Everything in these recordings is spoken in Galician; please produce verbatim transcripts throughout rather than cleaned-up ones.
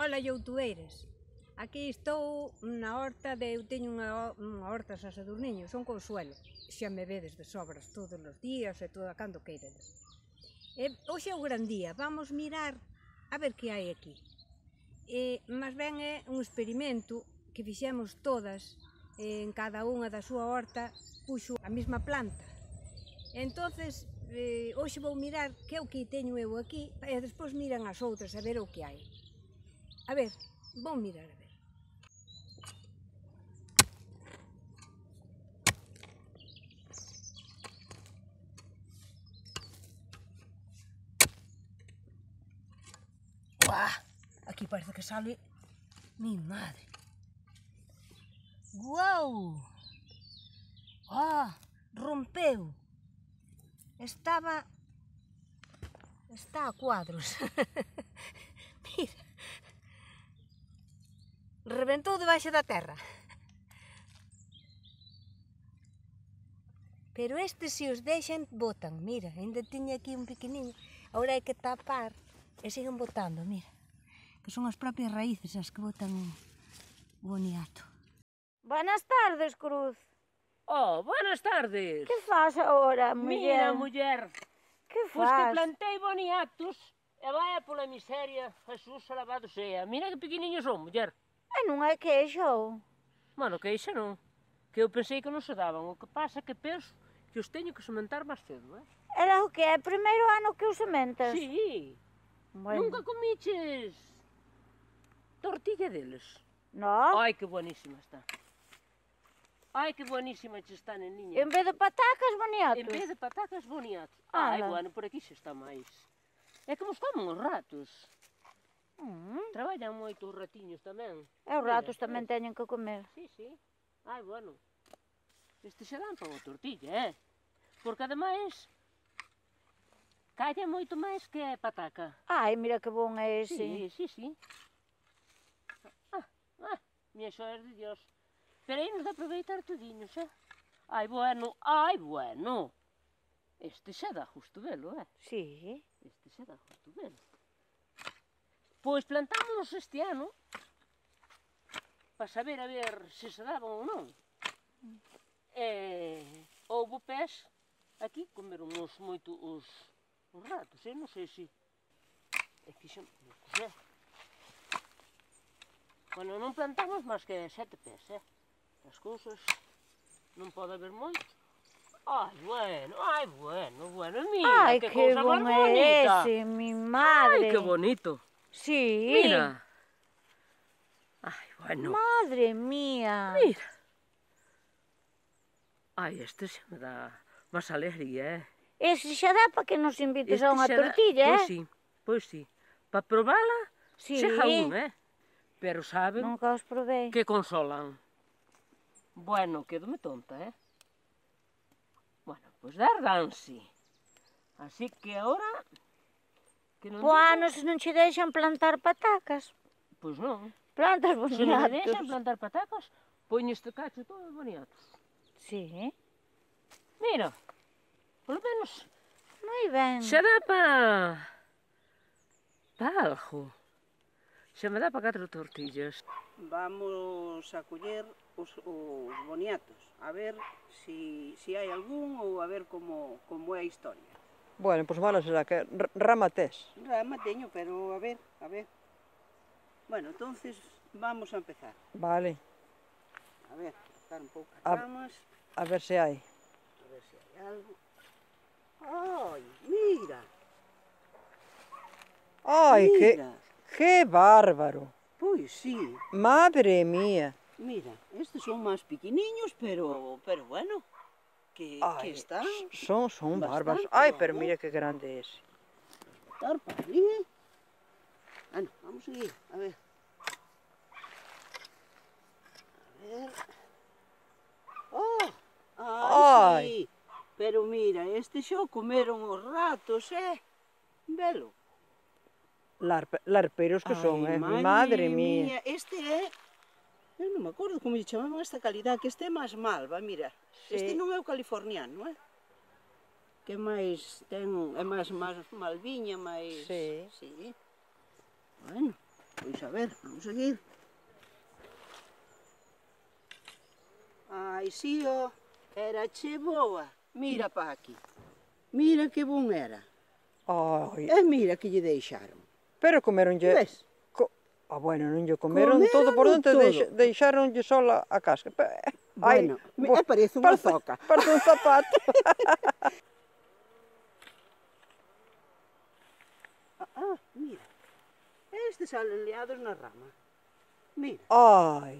Ola, youtueiras. Aquí estou na horta de... Eu teño unha, unha horta xa Sadurniño, son Consuelo. Xa me vedes de sobras todos os días e todo a cando queiredes. E hoxe é o gran día, vamos mirar a ver que hai aquí. E, mas ben é un experimento que fixemos todas, en cada unha da súa horta puxo a mesma planta. Entonces, eh, hoxe vou mirar que é o que teño eu aquí e despois miran as outras a ver o que hai. A ver, vou mirar a ver. Uah, aquí parece que sale mi madre. Guau! Ah, rompeu. Estaba... Está a cuadros. Mira. Reventou debaixo da terra. Pero estes se os deixan, botan. Mira, ainda tiña aquí un pequeniño. Agora hai que tapar e siguen botando, mira. Que son as propias raíces as que botan o boniato. Buenas tardes, Cruz. Oh, buenas tardes. Que faz agora, muller? Mira, muller. Que Pois que faz? plantei boniatos e vai pola miseria, Jesús alabado sea. Mira que pequeniños son, muller. E non é queixo. Bueno, que ixa non. Que eu pensei que non se daban. O que pasa é que penso que os teño que sementar máis cedo, eh? Era o que é o primeiro ano que os sementas? Sí. Bueno. Nunca comiches tortilla deles? No. Ai, que buenísima está. Ai, que buenísima che está, neniña. En vez de patacas, boniatos? En vez de patacas, boniatos. Ala. Ai, bueno, por aquí xa está máis. É como os comen os ratos. Mm. Traballan moito os ratiños tamén. E os ratos tamén teñen que comer. Sí, sí. Ai, bueno. Este xa dan para a tortilla, eh? Porque ademais calla moito máis que a pataca. Ai, mira que bon é ese. Sí, sí, sí. Ah, ah, miña xoes de Dios. Pero aí nos de aproveitar todiños, eh? Ai, bueno, ai, bueno. Este xa dá justo velo, eh? Sí. Este xa dá justo velo. Pois plantámonos este ano para saber a ver se se daban ou non. E houbo pés aquí, comeron os moito os, os ratos, eu non sei se... E fixen... Eh? Bueno, non plantamos máis que sete pés, eh? As cousas non pode haber moito. Ai, bueno, ai, bueno, bueno, mira, Ai, que, que cousa bon máis é bonita. ese, mi madre. Ai, que bonito. Sí. Mira. Ai, bueno. Madre mía. Mira. Ai, este xa me dá máis alegría, eh? Ese xa dá para que nos invites Este a unha xa dá- tortilla, Pois eh? sí, pois sí. Para probala, Sí. xa un, eh? Pero saben Nunca os probei. que consolan. Bueno, quedome tonta, eh? Bueno, pois dar danse. Así que agora... Que non Po digo- ano se non che deixan plantar patacas. Pois non. Plantas Se non me boniatos. deixan plantar patacas, poño este cacho todo boniatos. Sí. Mira, polo menos Moi ben. xa dá pa... pa algo. Xa me dá pa catro tortillas. Vamos a coller os, os boniatos, a ver si, si hai algún ou a ver como, como é a historia. Bueno, pois malo será que r- rama tes. Rama teño, pero a ver, a ver. Bueno, entonces vamos a empezar. Vale, A ver, cortar un pouco as A- ramas, a ver se hai. a ver se hai algo. Ai, mira, Ai, que, mira. que bárbaro. Pois sí, Madre mía. mira, estes son máis pequeniños, pero, pero bueno, que, que Ai, están. son, son bárbaros. bastante, Ai, pero vamos. mira que grande é ese. Cortar para ali. Bueno, vamos a seguir, a ver. A ver. Oh, ai, Ai. sí. Pero mira, este xo comeron os ratos, eh? Velo. Larpe, larperos que son, Ai, eh? Madre mía. Este é... Eu non me acordo como lle chamaban esta calidad, que este é máis malva, mira. Sí. Este non é o californiano, eh? Que máis ten, é máis, máis malviña, máis... Sí. Sí. Bueno, pois Pois a ver, vamos seguir. Ai, si, ó, era che boa. Mira pa aquí. Mira que bon era. Ai, E mira que lle deixaron. pero comeronlle... Ves? Co... Ah, bueno, non lle comeron Comeron todo por dentro, todo. deixa, deixaronlle sola a casca. Pe- Ai, Bueno, me bo- parece unha parece- zoca. Parece un zapato. Ah, ah, mira. Estes salen liados na rama. Mira, Ai,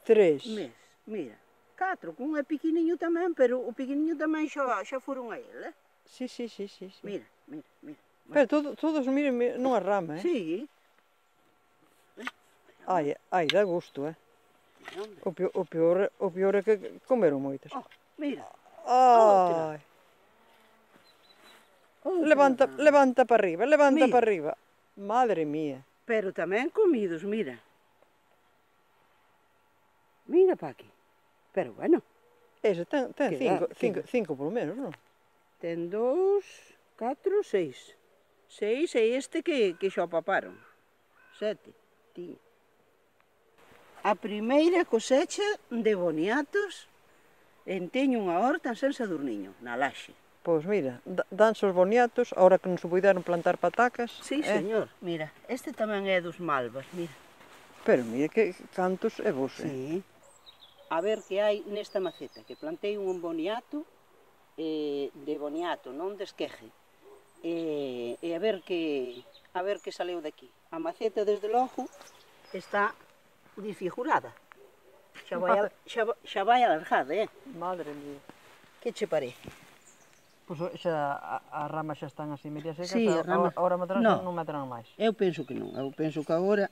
tres. mes, mira. Catro, que un é pequeniño tamén, pero o pequeniño tamén xa, xa foron a ele, eh? Sí, sí, sí, sí, sí. Mira, mira, mira. Pero todo, todos, miren, miren, nunha rama, eh? Sí. Ai, ai, dá gusto, eh? Mira, hombre. O peor, o peor, o peor é que comeron moitas. Oh, mira. Ai, Outra levanta, rama. levanta para arriba, levanta Mira. para arriba. Madre mía. Pero tamén comidos, mira. Mira pa aquí. Pero bueno, Ese ten, ten Que cinco, dá, que cinco, dá. cinco por lo menos, non? ten dous, catro, seis. Seis e este que, que xa o paparon. Sete. Tiña. A primeira cosecha de boniatos en teño unha horta en San Sadurniño, na Laxe. Pois mira, da- danse os boniatos, ahora que non se puideron plantar patacas. Sí, eh? señor. Mira, este tamén é dos malvas, mira. Pero mira que cantos é vos, eh? Sí. A ver que hai nesta maceta, que plantei un boniato eh, de boniato, non de esqueje. E, e a ver que a ver que saleu daqui. A maceta, desde logo, está disfigurada. Xa vai, a- xa, va- xa vai alargada, eh? Madre mía. Que che parece? Pois xa a- as ramas xa están así media secas, Sí, a- as ramas- agora meterán, No. non meterán máis. Eu penso que non. Eu penso que agora...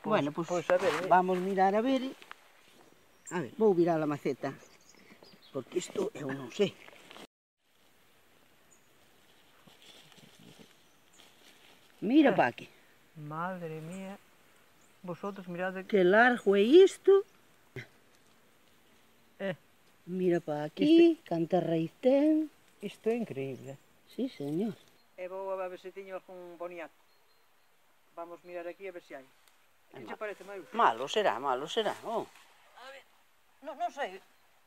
Pois- bueno, pois, pois a ver, eh. vamos mirar a ver. A ver, vou virar a maceta. Porque isto eu non sei. Mira pa aquí. Madre mía. Vosotros mirade que... Que largo é isto. Eh. Mira pa aquí, canta raíz ten. Isto é increíble. Sí, señor. E vou a ver se teño algún boniato. Vamos mirar aquí a ver se hai. Que che parece, Maius? Malo será, malo será. Oh. A ver, non, non sei,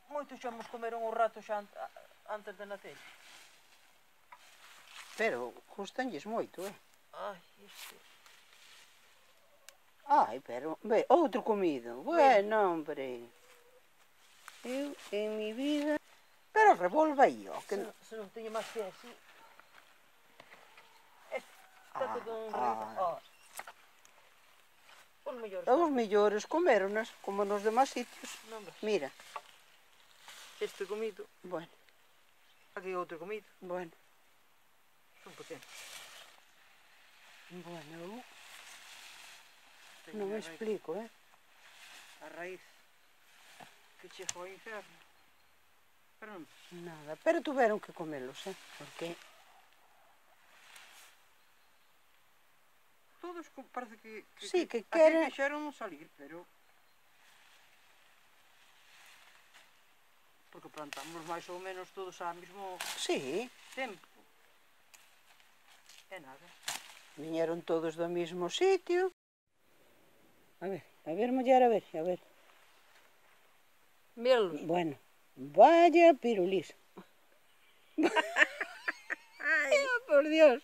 moitos xa nos comeron o rato xa an- a- antes de nacer. Pero custanlles moito, eh? Ai, isto... Ai, pero, ve, outro comido. Bueno, hombre. Eu, en mi vida... Pero revolva aí, ó. Se, Que... non- se non teño máis que así... Está Ah, todo un ah. oh. Os mellores. Os millores comeronas, como nos demás sitios. Non ves? Mira, Este comido, bueno, aquí outro comido. bueno, Son potentes. bueno, Teño non a me raíz- explico, eh? A raíz que chego ao inferno. Pero non. Nada, pero tuveron que comelos, eh? Porque Todos co- parece que... que Sí, que así queren- quixeron salir, pero... Porque plantamos máis ou menos todos ao mesmo sí, tempo. E nada. viñeron todos do mismo sitio. A ver, a ver, muller, a ver, a ver. Míralos. Bueno, vaya pirulís. Ai, por Dios.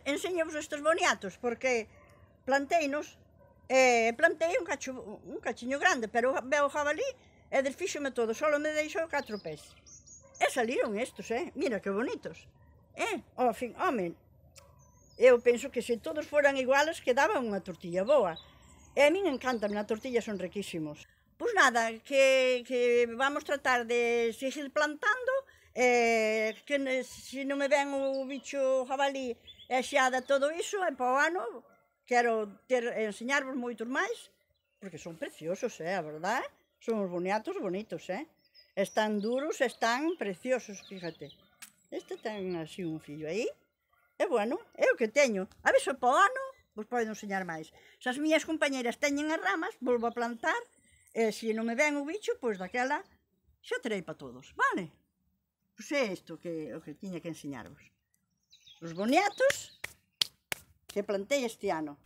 Enseñamos estes boniatos, porque planteinos, eh, plantei un, cacho, un cachiño grande, pero veo o jabalí e desfíxome todo, só me deixou catro pés. E saliron estos, eh? Mira que bonitos. Eh? Ao fin, home, eu penso que se todos foran iguales quedaba unha tortilla boa. E a min encantan, na tortilla son riquísimos. Pois nada, que, que vamos tratar de seguir plantando, eh, que ne- se non me ven o bicho jabalí e xeada todo iso, e para o ano quero ter, enseñarvos moitos máis, porque son preciosos, eh, a verdade? Son os boniatos bonitos, eh? Están duros, están preciosos, fíjate. Este ten así un fillo aí. E bueno, é o que teño. A ver se para o ano vos podo enseñar máis. Se as miñas compañeras teñen as ramas, volvo a plantar, e se non me ven o bicho, pois daquela xa terei para todos, vale? Pois é isto que, o que tiña que enseñarvos. Os boniatos que plantei este ano.